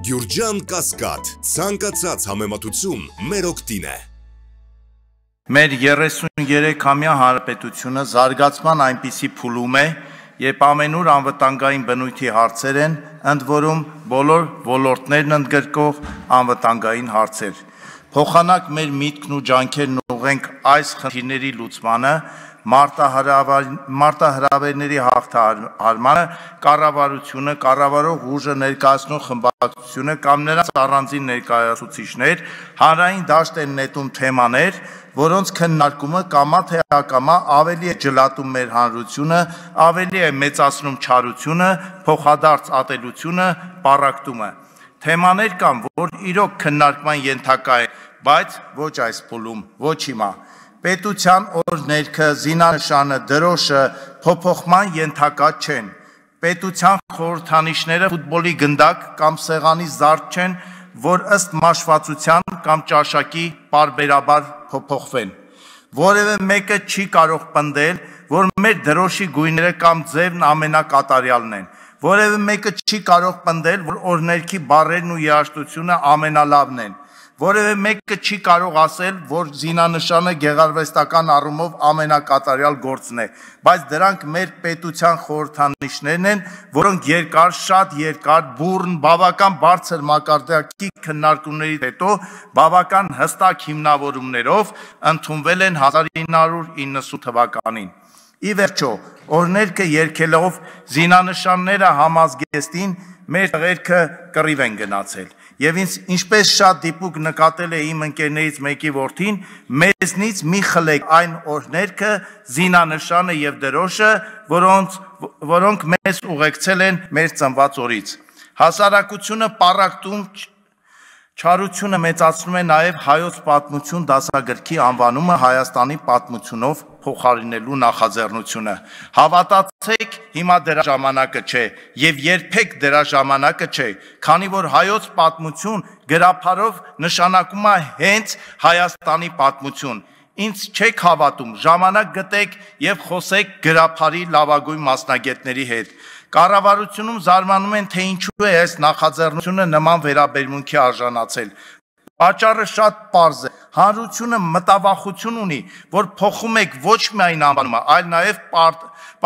Գյուրջան Կասկադ, ցանկացած համեմատություն մեր օգտին է։ Մեր 33-ամյա հանրապետությունը զարգացման այնպիսի փուլում է, երբ ամենուր անվտանգային բնույթի հարցեր են, ընդ որում բոլոր ոլորտներն ընդգրկող անվտանգային հարցեր։ Փոխանակ մեր միտքն ու ջանքերն ուղղենք այս խնդիրների լուծմանը, մարտահրավերների հաղթահարմանը, կառավարությունը, կառավարող ուժը ներկայացնող խմբակցությունը կամ նրանց առանձին ներկայացուցիչներ հանրային դաշտ են նետում թեմաներ, որոնց քննարկումը կամա թե ակամա ավելի է ջլատում մեր հանրությունը, ավելի է մեծացնում չարությունը, փոխադարձ ատելությունը, պառակտումը։ Թեմաներ կան, որ իրոք քննարկման ենթակա են, բայց ոչ այս փուլում, ոչ հիմա։ Պետության օրհներգը, զինանշանը, դրոշը փոփոխման ենթակա չեն։ Պետության խորհրդանիշները ֆուտբոլի գնդակ կամ սեղանի զարդ չեն, որ ըստ մաշվածության կամ ճաշակի պարբերաբար փոփոխվեն։ Որևէ մեկը չի կարող պնդել, որ մեր դրոշի գույները կամ ձևն ամենակատարյալն են։ Որևէ մեկը չի կարող պնդել, որ օրհներգի բառերն ու երաժշտությունը ամենալավն են։ Որևէ մեկը չի կարող ասել, որ զինանշանը գեղարվեստական առումով ամենակատարյալ գործն է, բայց դրանք մեր պետության խորհրդանիշներն են, որոնք երկար, շատ երկար, բուռն, բավական բարձր մակարդակի քննարկումներից հետո բավական հստակ հիմնավորումներով ընդունվել են 1990 թվականին։ Ի վերջո, օրհներգը երգելով զինանշանները համազգեստին մեր տղերքը կռիվ են գնացել։ Եվ ինչպես շատ դիպուկ նկատել է իմ ընկերներից մեկի որդին, մեզնից մի խլեք այն օրհներգը, զինանշանը եւ դրոշը, որոնք մեզ ուղեկցել են մեր ծնված օրից։ Հասարակությունը պառակտում, չարությունը մեծացնում է նաև հայոց պատմություն դասագրքի անվանումը Հայաստանի պատմությունով փոխարինելու նախաձեռնությունը։ Հավատացեք, հիմա դրա ժամանակը չէ եւ երբեք դրա ժամանակը չէ, քանի որ հայոց պատմություն գրափարով նշանակում է հենց Հայաստանի պատմություն։ Ինձ չեք հավատում, ժամանակ գտեք եւ խոսեք գրափարի լավագույն մասնագետների հետ։ Կառավարությունում զարմանում են, թե ինչու է այս նախաձեռնությունը նման վերաբերմունքի արժանացել։ Պատճառը շատ պարզ է։ Հանրությունը մտավախություն ունի, որ փոխում եք ոչ միայն անվանումը, այլ նաև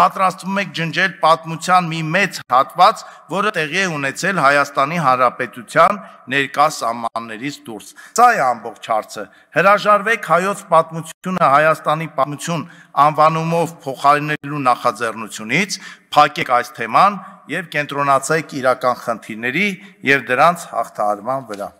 պատրաստվում եք ջնջել պատմության մի մեծ հատված, որը տեղի է ունեցել Հայաստանի Հանրապետության ներկա սահմաններից դուրս։ Սա է ամբողջ հարցը։ Հրաժարվեք հայոց պատմությունը Հայաստանի պատմություն անվանումով փոխարինելու նախաձեռնությունից, փակեք այս թեման եւ կենտրոնացեք իրական խնդիրների եւ դրանց հաղթահարման վրա։